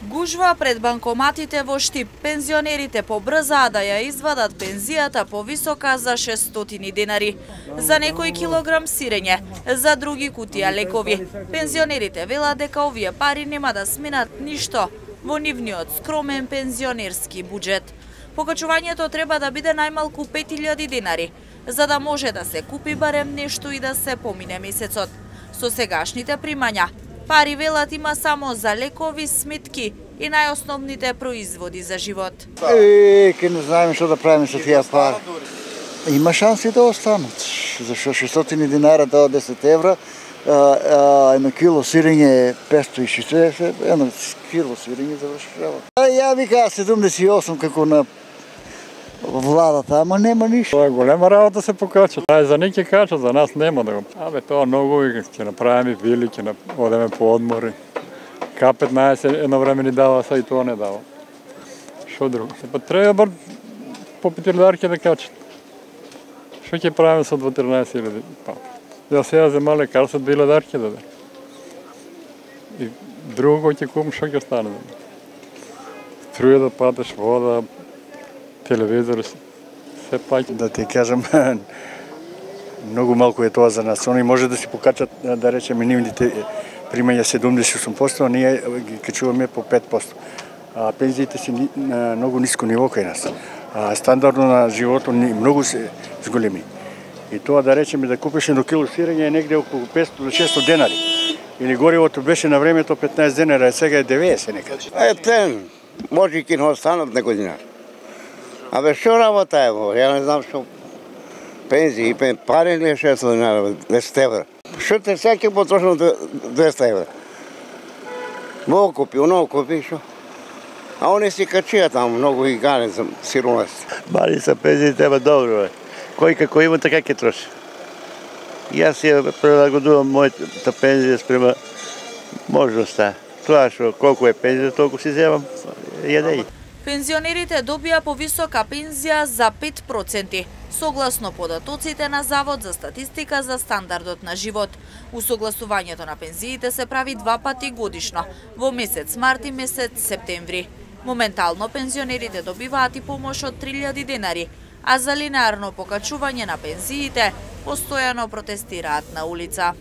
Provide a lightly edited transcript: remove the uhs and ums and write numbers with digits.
Гужва пред банкоматите во Штип. Пензионерите побрзаа да ја извадат пензијата повисока за 600 денари. За некој килограм сирење, за други кутија лекови. Пензионерите велат дека овие пари нема да сменат ништо во нивниот скромен пензионерски буџет. Покачувањето треба да биде најмалку 5000 денари, за да може да се купи барем нешто и да се помине месецот. Со сегашните примања, пари велат има само за лекови, сметки и најосновните производи за живот. Ке не знаеме што да правиме со тие пари. Има шанси да останат. Зашто 600 динара до 10 евра, едно кило сирење е 560, едно кило сирење завршава. Ја вика 78 како на владата, ама нема ништо. Тоа е голема работа се покача. Тај за неки кача, за нас нема да го. Тоа многу ќе направиме вили, ќе одеме по одмори. К15 едно време ни дава, са и тоа не дава. Шо друго? Па треба бар по 5000 да качат. Шо ќе правиме со 14.000? Па, ја сега зема лекарство 2000 да даде. И друго ќе купам, шо ќе стане? Струја да платиш, вода, телевизор, се паќе. Да ти кажам, многу малку е тоа за нас. Они може да си покачат, да речеме, нивните примања 78%, а ние ги качуваме по 5%. А пензиите си на многу ниско ниво кај нас. А стандардно на животот многу се зголеми. И тоа да речеме да купиш едно кило сирење е негде околу 500 до 600 денари. Или горивото беше на времето 15 денари, а сега е 90 некаде. Може и ќе не останат некој динар. Абе, што работа е во? Ја не знам што пензии, пари ли е 600 динара, 10 евра. Што те сега ќе потрошам 200 евра? Во купи, оно купи, што? А они си качија таму, многу и ганен за сиромаст. Бали са пензиите, ема добро е. Кој како има, така ќе троши. Јас ја прилагодувам мојата пензија спрема можноста. Тоа што колку е пензија, толку си земам, јадеј. Пензионерите добија повисока пензија за 5%, согласно податоците на Завод за статистика за стандардот на живот. Усогласувањето на пензиите се прави 2 пати годишно, во месец март и месец септември. Моментално пензионерите добиваат и помош од 3000 денари, а за линеарно покачување на пензиите постојано протестираат на улица.